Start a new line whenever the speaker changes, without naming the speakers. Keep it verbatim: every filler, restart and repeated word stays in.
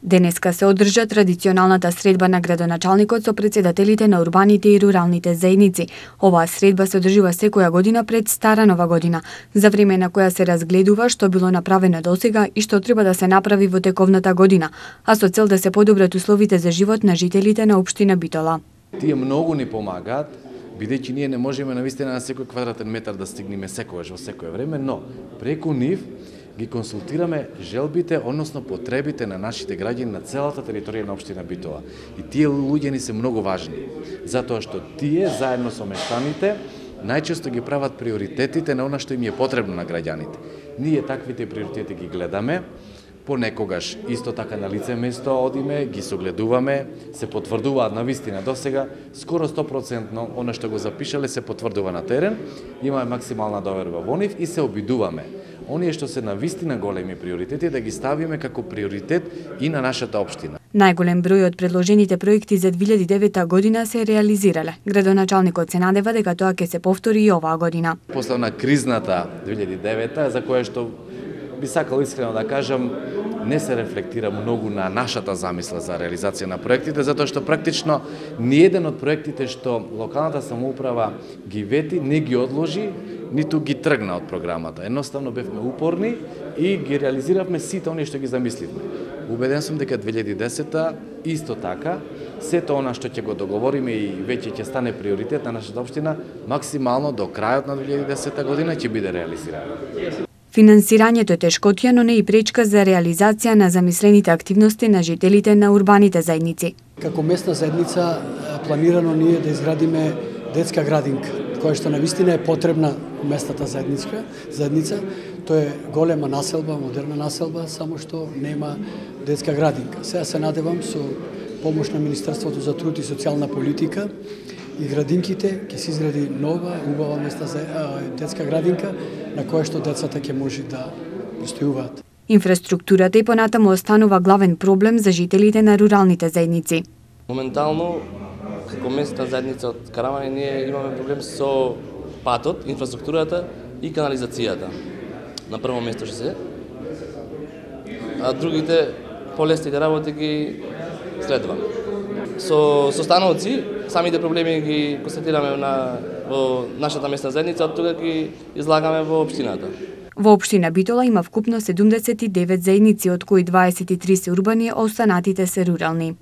Денеска се одржа традиционалната средба на градоначалникот со претседателите на урбаните и руралните заедници. Оваа средба се одржува секоја година пред Стара Нова година, за време на која се разгледува што било направено досега и што треба да се направи во тековната година, а со цел да се подобрат условите за живот на жителите на општина Битола.
Тие многу ни помагаат, бидејќи ние не можеме навистина на секој квадратен метар да стигнеме секогаш во секое време, но преку нив ги консултираме желбите, односно потребите на нашите граѓани на целата територија на општина Битола. И тие луѓе ни се многу важни, затоа што тие заедно со мештаните најчесто ги прават приоритетите на она што им е потребно на граѓаните. Ние таквите приоритети ги гледаме, понекогаш исто така на лице место одиме, ги согледуваме, се потврдуваат навистина досега, скоро сто проценти она што го запишале се потврдува на терен, имаме максимална доверба во нив и се обидуваме оние што се навистина големи приоритети да ги ставиме како приоритет и на нашата општина.
Најголем број од предложените проекти за две илјади и девета година се реализирале. Градоначалникот се надева дека тоа ќе се повтори и оваа година.
После на кризната две илјади и девета, за која што би сакал искрено да кажам, не се рефлектира многу на нашата замисла за реализација на проектите, затоа што практично ниеден од проектите што локалната самоуправа ги вети, не ги одложи, ниту ги тргна од програмата. Едноставно бевме упорни и ги реализиравме сите оние што ги замисливме. Убеден сум дека две илјади и десета исто така, сето она што ќе го договориме и веќе ќе стане приоритет на нашата општина, максимално до крајот на две илјади и десета година ќе биде реализирано.
Финансирањето е тешкотија, но не и пречка за реализација на замислените активности на жителите на урбаните заедници.
Како местна заедница планирано ние да изградиме детска градинка, која што навистина е потребна местната заедница. заедница. Тоа е голема населба, модерна населба, само што нема детска градинка. Сега се надевам со помош на Министерството за труд и социјална политика и градинките ќе се изгради нова, убава места за детска градинка на која што децата ќе може да престојуваат.
Инфраструктурата и понатаму останува главен проблем за жителите на руралните заедници.
Моментално, како местна заедница од Карамани, ние имаме проблем со патот, инфраструктурата и канализацијата. На прво место што се, а другите полесните работи ги следва. Со состановци, самите проблеми ги констатираме на, во нашата местна заедница, од тога ги излагаме во општината.
Во општина Битола има вкупно седумдесет и девет заедници, од кои дваесет и три се урбани, а останатите се рурални.